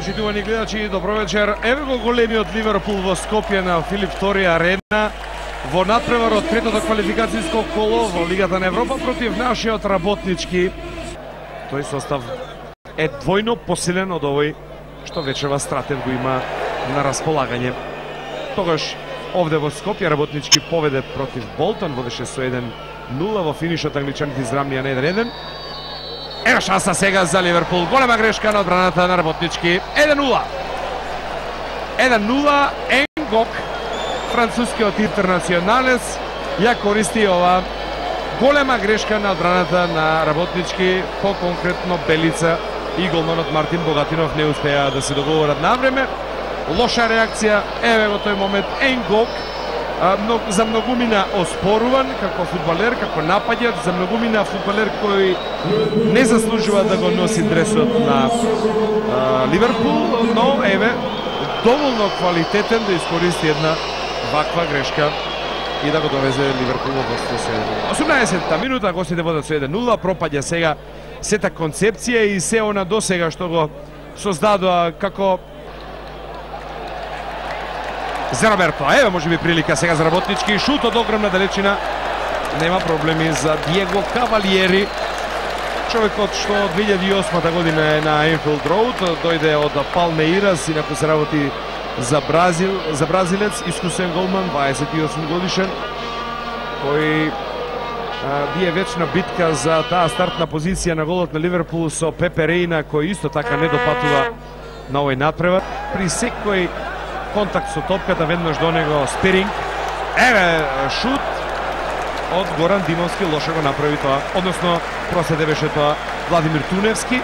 почитувани гледачи, добро вечер. Еве го големиот Ливерпул во Скопје на Филип Втори арена во натпревар од третото квалификацијско коло во Лигата на Европа против нашиот Работнички. Тој состав е двојно посилен од овој што вечерва Стратев го има на располагање. Тогаш овде во Скопје Работнички поведе против Болтон, водеше со 1-0 во финишот, англичаните израмнија на 1-1. Ева шанса сега за Ливерпул. Голема грешка на одбраната на Работнички. 1-0. 1-0. Енгок, францускиот интернационалец, ја користи ова голема грешка на одбраната на Работнички, по-конкретно Белица и голманот Мартин Богатинов не успеа да се договорат на време. Лоша реакција, еве во тој момент Енгок, за многумина оспоруван како фудбалер, како нападјач, за многумина фудбалер кој не заслужува да го носи дресот на Ливерпул, но еве доволно квалитетен да искористи една ваква грешка и да го довезе Ливерпул во водство. 18-та минута, гостите водат со 1-0, пропаѓа сега сета концепција и се она досега што го создадоа како за Роберто. Еве може би прилика сега за Работнички. Шут од огромна далечина. Нема проблеми за Диего Кавалиери. Човекот што од 2008 година е на Енфилд Роуд, дојде од Палмеирас, инаку се работи за бразилец, искусен голман, 28 годишен, кој бие вечна битка за таа стартна позиција на голот на Ливерпул со Пепе Рейна, кој исто така не допатува на овој надпревар. При секој контакт со топката веднаш до него спиринг. Еве шут од Горан Димовски, лошо го направи тоа. Односно, проследе беше тоа Владимир Туневски.